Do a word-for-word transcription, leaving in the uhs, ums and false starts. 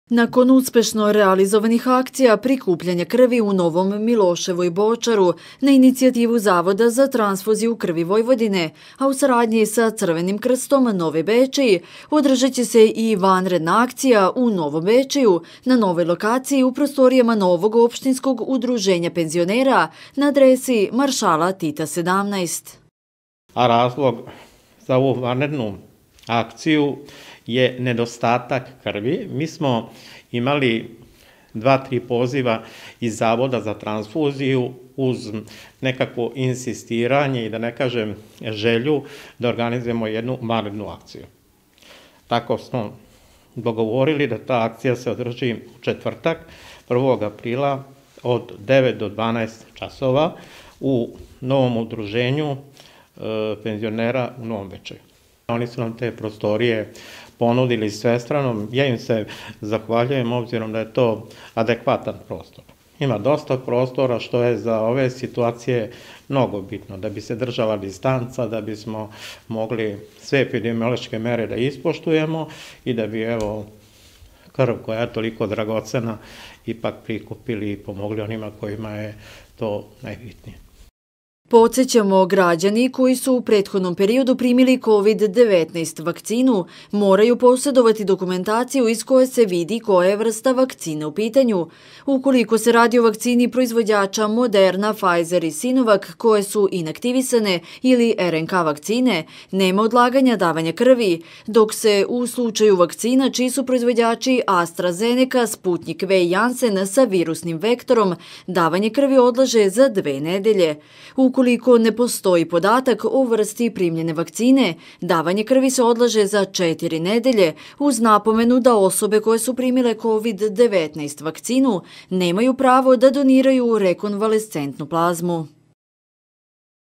Nakon uspešno realizovanih akcija prikupljanja krvi u Novom Miloševu i Bočaru na inicijativu Zavoda za transfuziju krvi Vojvodine, a u saradnji sa Crvenim krstom Nove Bečej, održat će se i vanredna akcija u Novom Bečeju na novoj lokaciji u prostorijama novog opštinskog udruženja penzionera na adresi Maršala Tita sedamnaest. A razlog za ovu vanrednu akciju je nedostatak krvi. Mi smo imali dva, tri poziva iz Zavoda za transfuziju uz nekakvo insistiranje i da ne kažem želju da organizujemo jednu vanrednu akciju. Tako smo dogovorili da ta akcija se održi u četvrtak, prvog aprila od devet do dvanaest časova u novom udruženju e, penzionera u Novom Bečeju. Oni su nam te prostorije ponudili svestrano. Ja im se zahvaljujem obzirom da je to adekvatan prostor. Ima dosta prostora što je za ove situacije mnogo bitno, da bi se držala distanca, da bismo mogli sve epidemiološke mere da ispoštujemo i da bi evo krv koja je toliko dragocena ipak prikupili i pomogli onima kojima je to najbitnije. Podsjećamo, građani koji su u prethodnom periodu primili kovid devetnaest vakcinu moraju posjedovati dokumentaciju iz koje se vidi koja je vrsta vakcine u pitanju. Ukoliko se radi o vakcini proizvođača Moderna, Pfizer i Sinovac koje su inaktivisane ili er en ka vakcine, nema odlaganja davanja krvi, dok se u slučaju vakcina čiji su proizvođači AstraZeneca, Sputnik V i Janssen sa virusnim vektorom, davanje krvi odlaže za dve nedelje. Ukoliko ne postoji podatak o vrsti primljene vakcine, davanje krvi se odlaže za četiri nedelje, uz napomenu da osobe koje su primile kovid devetnaest vakcinu nemaju pravo da doniraju rekonvalescentnu plazmu.